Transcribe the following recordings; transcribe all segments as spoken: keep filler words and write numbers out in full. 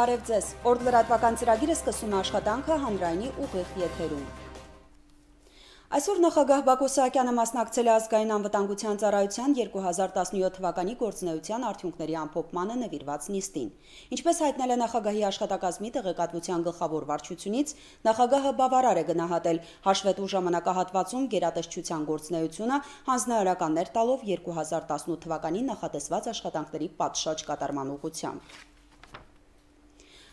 Բարև ձեզ, օրդ լրատվական ծրագիրը սկսում է աշխատանքը հանրայինի ուղիղ եթերում։ Այսօր նախագահ Բակո Սահակյանը մասնակցել է ազգային անվտանգության ծառայության երկու հազար տասնյոթ թվականի գործունեության արդյունքների ամփոփմանը նվիրված նիստին։ Ինչպես հայտնել է նախագահի աշխատակազմի տեղեկատվության գլխավոր վարչությունից, նախագահը բավարար է գնահատել հաշվետու ժամանակահատվածում գերատեսչության գործունեությունը, հանձնարարականներ տալով երկու հազար տասնութ թվականին նախատեսված աշխատանքների պատշաճ կատարման ուղղությամբ։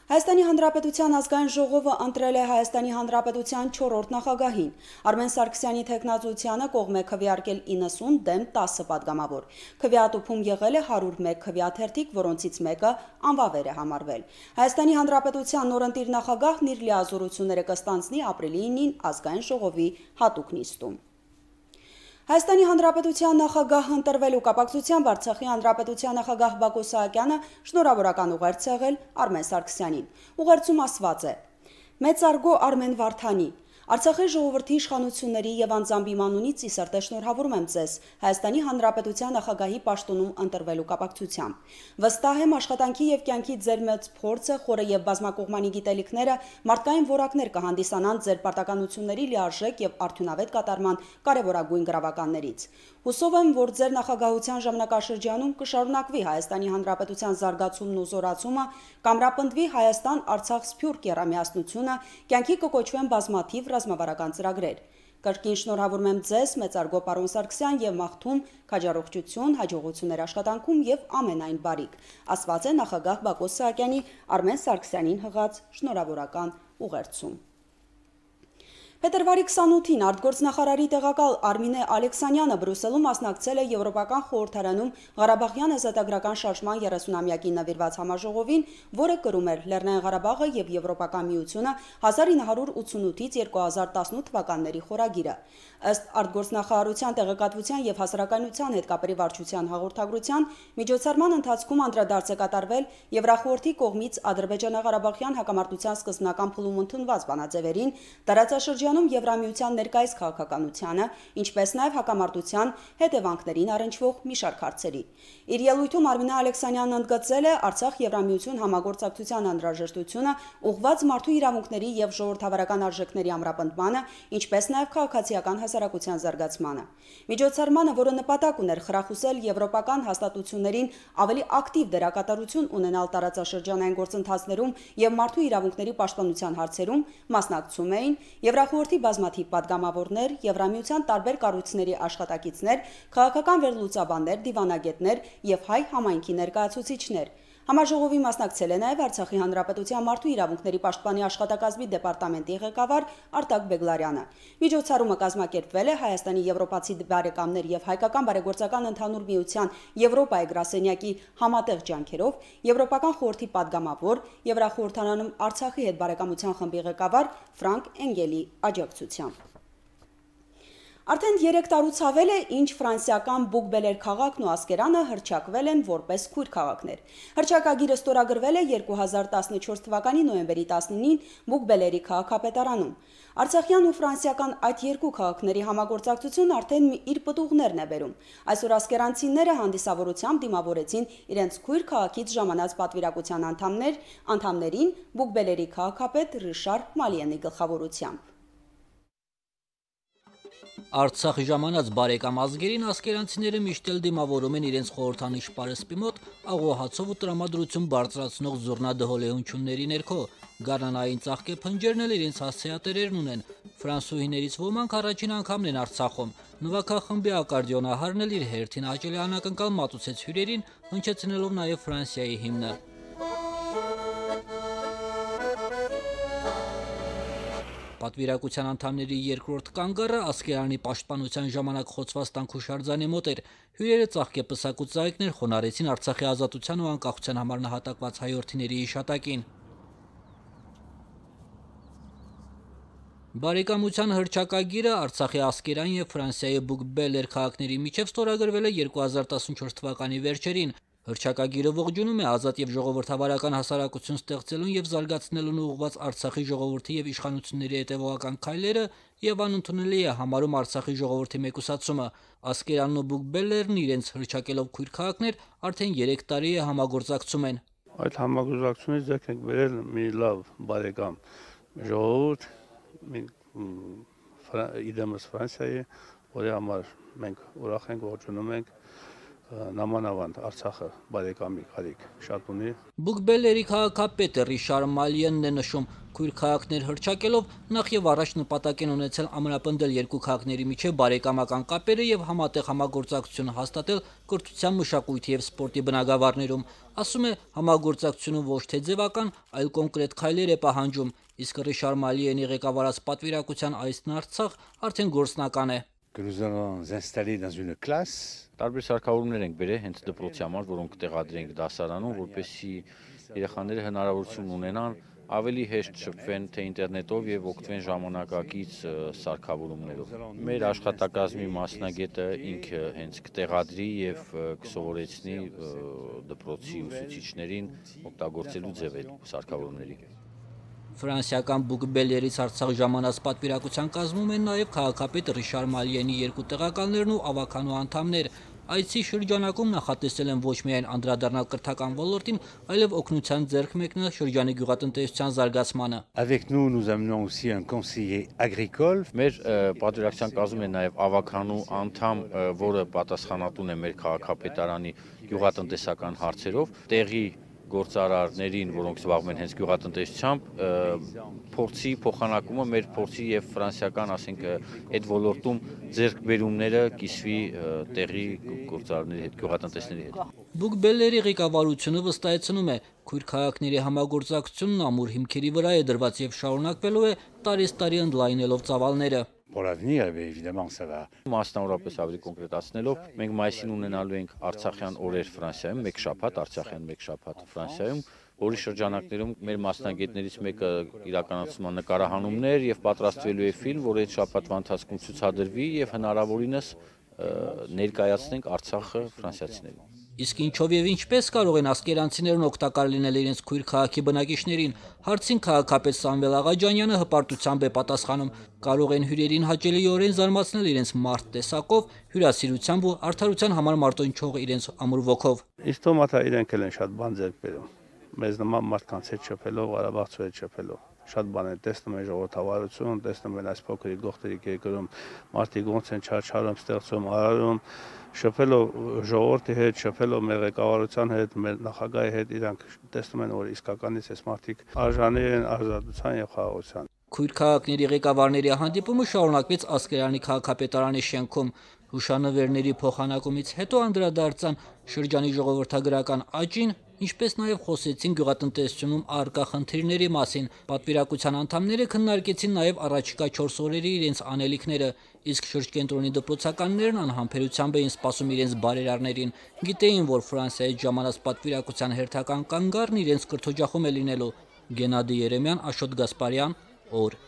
Հայաստանի Հանրապետության ազգային ժողովը ընտրել է Հայաստանի Հանրապետության չորրորդ նախագահին։ Արմեն Սարգսյանի թեկնածությանը կողմ է քվեարկել իննսուն դեմ տասը պատգամավոր։ Քվեատուփում եղել է հարյուր մեկ քվեաթերթիկ, որոնցից մեկը անվավեր է համարվել։ Հայաստանի Հանրապետության նորընտիր նախագահն իր լիազորությունները կստանձնի ապրիլի ինին ազգային ժողովի հատուկ նիստում։ Հայաստանի Հանրապետության նախագահ ընտրվելու կապակցությամբ Արցախի Հանրապետության նախագահ Բակո Սահակյանը շնորհավորական ուղերձ եղել Արմեն Սարգսյանին։ Ուղերձում ասված է. «Մեծարգո Արմեն Վարդանի, Արցախի ժողովրդի իշխանությունների եւ անձամբ իմ անունից ի սրտե շնորհավորում եմ ձեզ Հայաստանի Հանրապետության նախագահի պաշտոնում ընտրվելու կապակցությամբ։ Վստահ եմ աշխատանքի եւ կյանքի ձեր մեծ փորձը, խորը եւ բազմակողմանի գիտելիքները մարդկային որակներ կհանդիսանան ձեր պարտականությունների լիարժեք եւ արդյունավետ կատարման կարեւորագույն գրավականներից։ Հուսով եմ, որ ձեր նախագահության ժամանակաշրջանում կշարունակվի Հայաստանի Հանրապետության զարգացումն ու զորացումը, կամրապնդվի Հայաստան-Արցախ սփյուռք եռամիասնությունը, կյանքի կկոչվեն բազմաթիվ ռազմավարական ծրագրեր։ Կրկին շնորհավորում եմ ձեզ, մեծարգո պարոն Սարգսյան, եւ մաղթում քաջառողջություն, հաջողություններ աշխատանքում եւ ամենայն բարիք», ասված է նախագահ Բակո Սահակյանի Արմեն Սարգսյանին հղած շնորհավորական ուղերձում։ Փետրվարի քսանութին արտգործնախարարի տեղակալ Արմինե Ալեքսանյանը Բրյուսելում մասնակցել է Եվրոպական խորհրդարանում Ղարաբաղյան ազատագրական շարժման երեսունամյակին նվիրված համաժողովին, որը կրում էր Լեռնային Ղարաբաղը եւ Եվրոպական միությունը հազար ինը հարյուր ութսունութից երկու հազար տասնութ թվականների խորագիրը։ Ըստ արտգործնախարարության տեղեկատվության եւ հասարակայնության հետ կապերի վարչության հաղորդագրության, միջոցառման ընթացքում անդրադարձ է կատարվել Եվրախորհրդի կողմից Ադրբեջանա-Ղարաբաղյան հակամարտության սկզբնական փուլում ընդունված բանաձևերին, տարածաշրջանում Եվրամիության ներկայիս քաղաքականությանը, ինչպես նաև հակամարտության հետևանքներին առնչվող մի շարք հարցերի։ Իր ելույթում Արմինե Ալեքսանյանն ընդգծել է Արցախ Եվրամիություն համագործակցության անհրաժեշտությունը ուղղված մարդու իրավունքների եւ ժողովրդավարական արժեքների ամրապնդմանը, ինչպես նաև քաղաքացիական հասարակության զարգացմանը։ Միջոցառմանը, որը նպատակ ուներ խրախուսել եվրոպական հաստատություններին ավելի ակտիվ դերակատարություն ունենալ տարածաշրջանային գործընթացներում եւ մարդու իրավունքների պաշտպանության հարցերում, մասնակցում էին Եվրախորհրդի բազմաթիվ պատգամավորներ, Եվրամիության տարբեր կառույցների աշխատակիցներ, քաղաքական վերլուծաբաններ, դիվանագետներ եւ հայ համայնքի ներկայացուցիչներ։ Համաժողովի մասնակցել է նաև Արցախի Հանրապետության մարդու իրավունքների պաշտպանի աշխատակազմի դեպարտամենտի ղեկավար Արտակ Բեգլարյանը։ Միջոցառումը կազմակերպվել է Հայաստանի եվրոպացի բարեկամներ եւ հայկական բարեգործական ընդհանուր միության Եվրոպայի գրասենյակի համատեղ ջանքերով, Եվրոպական խորհրդի պատգամավոր, Եվրախորհրդարանում Արցախի հետ բարեկամության խմբի ղեկավար Ֆրանկ Էնգելի աջակցությամբ։ Արդեն երեք տարուց ավել է, ինչ ֆրանսիական Բուկբելեր քաղաքն ու Ասկերանը հռչակվել են որպես քույր քաղաքներ։ Հռչակագիրը ստորագրվել է երկու հազար տասնչորս թվականի նոյեմբերի տասնինին Բուկբելերի քաղաքապետարանում։ Արցախյան ու ֆրանսիական այդ երկու քաղաքների համագործակցությունն արդեն իր պտուղներն է բերում։ Այսօր ասկերանցիները հանդիսավորությամբ դիմավորեցին իրենց քույր քաղաքից ժամանած պատվիրակության անդամներ, անդամներին Բուկբելերի քաղաքապետ Ռիշար Մալիենի գլխավորությամբ։ Արցախի ժամանած բարեկամ ազգերին ասկերանցիները միշտ էլ դիմավորում են իրենց խորհրդանիշ պարսպի մոտ աղոհացով ու տրամադրություն բարձրացնող զուռնա-դհոլեհությունների ներքո։ Գարնանային ծաղկե փնջերն էլ իրենց հասցեատերերն ունեն։ Ֆրանսուհիներից ոմանք առաջին անգամն են Արցախում։ Նվագախմբի ակարդիոնահարն էլ իր հերթին հաճելի անակնկալ մատուցեց հյուրերին, հնչեցնելով նաև Ֆրանսիայի հիմնը։ Պատվիրակության անդամների երկրորդ կանգառը Ասկերանի պաշտպանության ժամանակ խոցված տանքուշարձանի մոտ էր։ Հյուրերը ծաղկեպսակ ու ծաղիկներ խոնարհեցին Արցախի ազատության ու անկախության համար նահատակված հայորդիների հիշատակին։ Բարեկամության հռչակագիրը Արցախի Ասկերան եւ Ֆրանսիայի Բուկբելեր քաղաքների միջև ստորագրվել է երկու հազար տասնչորս թվականի վերջերին։ Հռչակագիրը ողջունում է ազատ եւ ժողովրդավարական հասարակություն ստեղծելուն եւ զարգացնելուն ուղղված Արցախի ժողովրդի եւ իշխանությունների հետեւողական քայլերը եւ անընդունելի է համարում Արցախի ժողովրդի մեկուսացումը։ Ասկերանն ու Բուկբելլերն իրենց հռչակելով քույր քաղաքներ արդեն երեք տարի է համագործակցում են։ Այդ համագործակցությունից ձեռք ենք բերել մի լավ բարեկամ ժողովուրդ, իդեմս Ֆրանսիայի, որի համար մենք ուրախ ենք, ողջունում ենք նամանավանդ Արցախը բարեկամի կարիք շատ ունի։ Բուկբելլերի քաղաքապետը Ռիշար Մալիենն է նշում, քույր քաղաքներ հռչակելով նախ եւ առաջ նպատակ են ունեցել ամրապնդել երկու քաղաքների միջև բարեկամական կապերը եւ համատեղ համագործակցություն հաստատել կրթության, մշակույթի եւ սպորտի բնագավառներում։ Ասում է, համագործակցությունը ոչ թե ձևական, այլ կոնկրետ քայլեր է պահանջում, իսկ Ռիշար Մալիենի ղեկավարած պատվիրակության այցն Արցախ արդեն գործնական է։ Տարբեր սարքավորումներ ենք բերել հենց դպրոցի համար, որոնք տեղադրենք դասարանում, որպեսզի երեխաները հնարավորություն ունենան ավելի հեշտ շփվեն թե ինտերնետով եւ օգտվեն ժամանակակից սարքավորումներով։ Մեր աշխատակազմի մասնագետը ինքը հենց կտեղադրի եւ կսովորեցնի դպրոցի ուսուցիչներին օգտագործելու ձևեր սարքավորումների։ Ֆրանսիական Բուկբելլերից Արցախ ժամանած պատվիրակության կազմում են նաև քաղաքապետ Ռիշար Մալիենի երկու տեղակալներն ու ավականու անդամներ։ Այցի շրջանակում նախատեսել են ոչ միայն անդրադառնալ կրթական ոլորտին, այլև օգնության ձեռք մեկնել շրջանի գյուղատնտեսության զարգացմանը։ Մեր պատվիրակության կազմում է նաև ավականու անդամ, որը պատասխանատուն է մեր քաղաքապետարանի գյուղատնտեսական հարցերով, տեղի գործարարներին, որոնք զբաղվում են հենց գյուղատնտեսությամբ, փորձի փոխանակումը մեր փորձի եւ ֆրանսիական, ասենք, այդ ոլորտում ձեռքբերումները կիսվի տեղի գործարարների հետ, գյուղատնտեսների հետ։ Բուկբելլերի ղեկավարությունը վստահեցնում է, քույր քաղաքների համագործակցությունն ամուր հիմքերի վրա է դրված եւ շարունակվելու է տարեստարի ընդլայնելով ծավալները։ Մասնավորապես ավելի կոնկրետացնելով, մենք մայիսին ունենալու ենք Արցախյան օրեր Ֆրանսիայում, մեկ շաբաթ, Արցախյան մեկ շաբաթ Ֆրանսիայում, որի շրջանակներում մեր մասնագետներից մեկը իրականացում է նկարահանումներ եւ պատրաստվելու է ֆիլմ, որը այդ շաբաթվա ընթացքում ցուցադրվի եւ հնարավորինս ներկայացնենք Արցախը ֆրանսիացիներին։ Իսկ ինչով եւ ինչպես կարող են ասկերանցիներն օգտակար լինել իրենց քույր քաղաքի բնակիչներին, հարցին քաղաքապետ Սամվել Աղաջանյանը հպարտությամբ է պատասխանում, կարող են հյուրերին հաճելիորեն զարմացնել իրենց մարդ տեսակով, հյուրասիրությամբ ու արդարության համար մարտոնչող իրենց ամուր ոգով։ Իսկ թոմաթա իրենք էլ են շատ բան ձեռք բերում, մեզ նման մարդկանց հետ շփելով, Ղարաբաղցու հետ շփելով։ Շատ բան են տեսնում են ժողովրդավարություն, տեսնում են այս փոքրիկ գողտրիկ երկրում մարդիկ ոնց են չարչարում, ստեղծում, արարում, շփելով ժողովրդի հետ, շփելով մեր ղեկավարության հետ, մեր նախագահի հետ, իրանք տեսնում են, որ իսկականից այս մարդիկ արժանի են ազատության եւ խաղաղության։ Քույր քաղաքների ղեկավարների հանդիպումը շարունակվեց Ասկերանի քաղաքապետարանի շենքում։ Հուշանվերների փոխանակումից հետո անդրադարձան շրջանի ժողովրդագրական աճին, ինչպես նաև խոսեցին գյուղատնտեսությունում առկա խնդիրների մասին։ Պատվիրակության անդամները քննարկեցին նաև առաջիկա չորս օրերի իրենց անելիքները, իսկ շրջկենտրոնի դպրոցականներն անհամբերությամբ էին սպասում իրենց բարերարներին։ Գիտեին, որ Ֆրանսիայից ժամանած պատվիրակության հերթական կանգառն իրենց կրթօջախում է լինելու։ Գենադի Երեմյան, Աշոտ Գասպարյան, օր։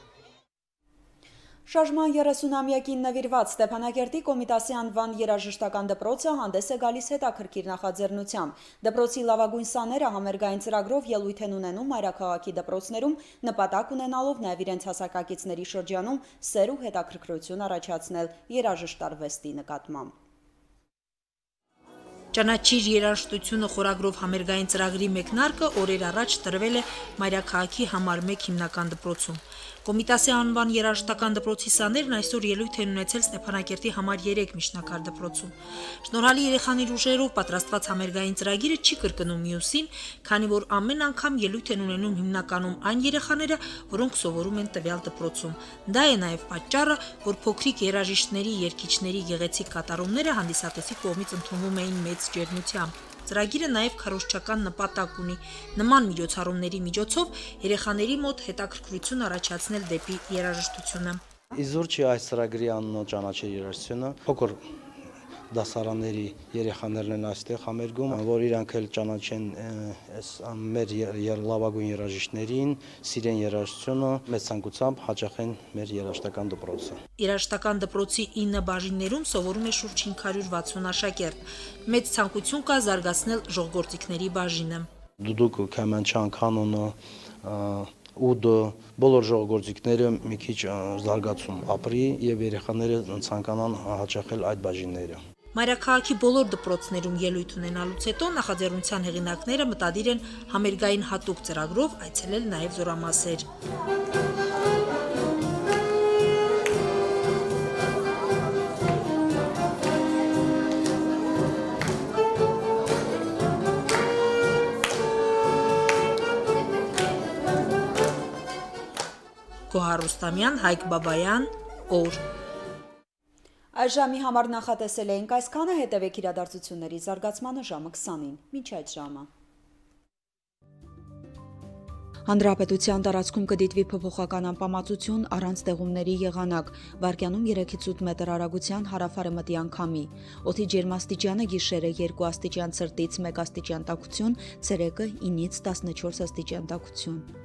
Շարժման երեսունամյակին նվիրված Ստեփանակերտի Կոմիտասի անվան երաժշտական դպրոցը հանդես է գալիս հետաքրքիր նախաձեռնությամբ։ Դպրոցի լավագույն սաները համերգային ծրագրով ելույթ են ունենում մայրաքաղաքի դպրոցներում, նպատակ ունենալով նաև իրենց հասակակիցների շրջանում սեր ու հետաքրքրություն առաջացնել երաժշտարվեստի նկատմամբ։ Ճանաչիր երաժշտությունը խորագրով համերգային ծրագրի մեկնարկը օրեր առաջ տրվել է մայրաքաղաքի համար մեկ հիմնական դպրոցում։ Կոմիտասի անվան երաժշտական դպրոցի սաներն այսօր ելույթ են ունեցել Ստեփանակերտի համար երեք միջնակարգ դպրոցում։ Շնորհալի երեխաների ուժերով պատրաստված համերգային ծրագիրը չի կրկնում մյուսին, քանի որ ամեն անգամ ելույթ են ունենում հիմնականում այն երեխաները, որոնք սովորում են տվյալ դպրոցում։ Դա է նաև պատճառը, որ փոքրիկ երաժիշտների, երգիչների գեղեցիկ կատարումները հանդիսատեսի կողմից ընդունվում էին մեծ ջերմությամբ։ Ծրագիրը նաև քարոզչական նպատակ ունի նման միջոցառումների միջոցով երեխաների մոտ հետաքրքրություն առաջացնել դեպի երաժշտությունը։ Իզուր չի այս ծրագրի անունը ճանաչել երաժշտությունը, փոքր դասարանների երեխաներն են այստեղ համերգում, որ իրանք էլ ճանաչեն այս մեր լավագույն երաժիշտներին, սիրեն երաժշտությունը, մեծ ցանկությամբ հաճախեն մեր երաժշտական դպրոցը։ Երաժշտական դպրոցի ինը բաժիններում սովորում է շուրջ հինգ հարյուր վաթսուն աշակերտ։ Մեծ ցանկություն կա զարգացնել ժողովրդիկների բաժինը։ Դուդուկ, քամանչան, կանոնը, ուդը, բոլոր ժողովրդիկները մի քիչ զարգացում ապրի եւ երեխաները ցանկանան հաճախել այդ բաժինները։ Մայրաքաղաքի բոլոր դպրոցներում ելույթ ունենալուց հետո նախաձեռնության հեղինակները մտադիր են համերգային հատուկ ծրագրով այցելել նաև Զորամասեր։ Գոհար Ռուստամյան, Հայկ Բաբայան, օր։ Այս ժամի համար նախատեսել էինք այսքանը, հետևեք իրադարձությունների զարգացմանը ժամը քսանին, մինչ այդ ժամը։ Հանրապետության տարածքում կդիտվի փոփոխական անպամացություն առանց ձեղումների եղանակ, վարկյանում երեքից ութ մետր արագության հարավ-արևմտյան քամի, օդի ջերմաստիճանը գիշերը երկու աստիճան ցրտից մեկ աստիճան տաքություն, ցերեկը ինից տասնչորս աստիճան տաքություն։